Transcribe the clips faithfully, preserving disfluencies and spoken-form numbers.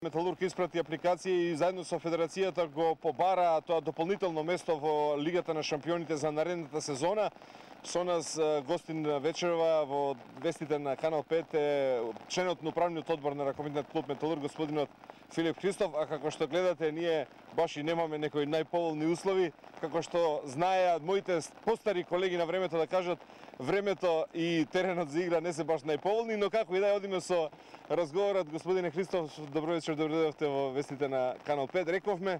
Металург испрати апликација и заедно со Федерацијата го побара тоа дополнително место во Лигата на шампионите за наредната сезона. Со нас гостин вечерва во вестите на Канал пет е членот на управниот одбор на ракометниот клуб Металург, господинот Филип Христов, а како што гледате, ние баш и немаме некои најповолни услови, како што знаеа моите постари колеги на времето да кажат, времето и теренот за игра не се баш најповолни, но како и да одиме со разговорот. Господине Христов, добро вечер, добро дојдовте во вестите на Канал пет. Рековме,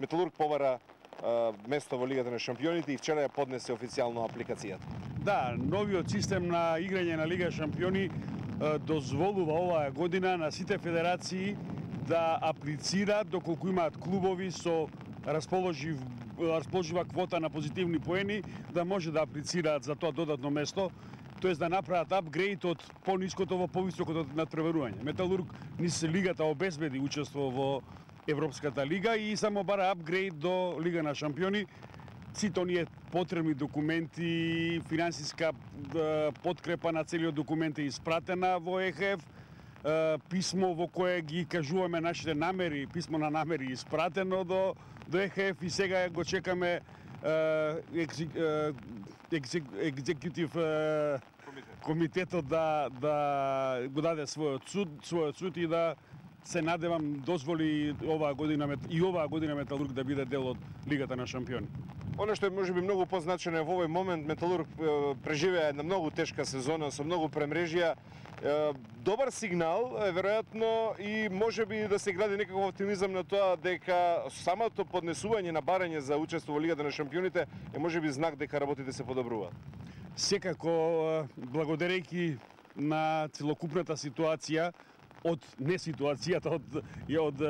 Металург побара а, место во Лигата на шампионите и вчера ја поднесе официјално апликацијата. Да, новиот систем на играње на Лига шампиони а, дозволува оваа година на сите федерации да аплицираат доколку имаат клубови со расположив расположива квота на позитивни поени, да може да аплицираат за тоа додатно место, тоест да направат апгрейд од пониското во повисокото надпреварување. Металург низ лигата обезбеди учество во Европската лига и само бара апгрейд до Лига на шампиони. Сите оние потребни документи, финансиска подкрепа на целиот документ е испратена во Е Ха Еф, писмо во кое ги кажуваме нашите намери, писмо на намери испратено до, до Е Ха Еф и сега го чекаме екзекутив комитетот да, да го даде својот суд, својот суд и да се надевам дозволи оваа година и оваа година Металург да биде дел од Лигата на шампиони. Оно што е можеби многу позначено во овој момент, Металург преживеа една многу тешка сезона со многу премрежија. Добар сигнал е веројатно и можеби да се гради некаков оптимизам на тоа дека самото поднесување на барање за учество во Лигата на шампионите е можеби знак дека работите се подобруваат. Секако, благодарејќи на целокупната ситуација, од неситуацијата од од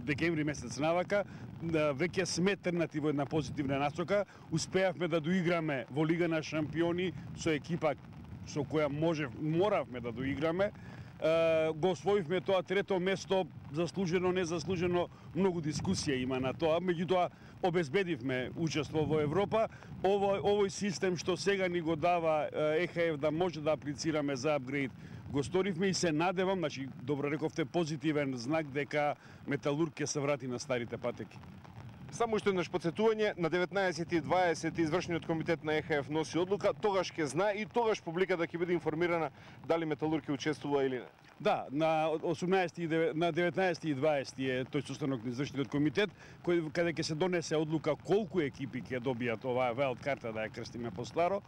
декември месец навака, веќе сме трнати во една позитивна насока. Успеавме да доиграме во Лига на шампиони со екипа со која можев, моравме да доиграме. Го освоивме тоа трето место, заслужено, незаслужено, многу дискусија има на тоа, меѓутоа обезбедивме учество во Европа. Овој, овој систем што сега ни го дава Е Ха Еф да може да аплицираме за апгрейд, го сторивме и се надевам, значи добро рековте, позитивен знак дека Металург ќе се врати на старите патеки. Само уште еднаш потсетување, на деветнаесет и дваесет извршниот комитет на Е Ха Еф носи одлука, тогаш ќе знае и тогаш публиката ќе биде информирана дали Металург ќе учествува или не. Да, на осумнаесети на деветнаесети и дваесети е тој состанок на извршниот комитет, кој каде ќе се донесе одлука колку екипи ќе добијат оваа вајлд карта, да ја крстиме постаро,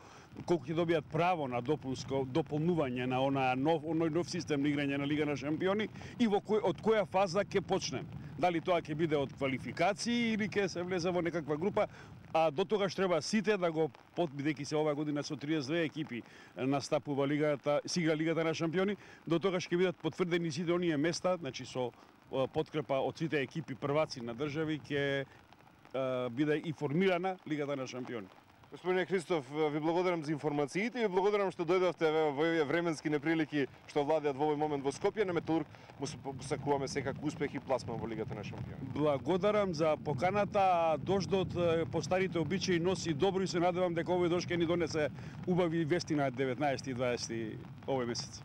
колку ќе добијат право на допунско дополнување на онаа нов оној нов систем на играње на Лига на шампиони и во кој од која фаза ќе почнем. Дали тоа ќе биде од квалификации или ќе се влезе во некаква група, а до тогаш треба сите да го бидејќи се оваа година со триесет и две екипи настапува лигата, сига Лигата на шампиони, до тогаш ќе бидат потврдени сите оние места, значи со подкрепа од сите екипи прваци на држави ќе биде и формирана Лигата на шампиони. Господине Христов, ви благодарам за информациите и ви благодарам што дојдовте во овие временски неприлики што владеат во овој момент во Скопје. На Металург му се посакуваме секако успех и пласман во Лигата на шампиони. Благодарам за поканата. Дождот по старите обичаи носи добро и се надевам дека овој дожд ќе ни донесе убави вести на деветнаесети и дваесети овој месец.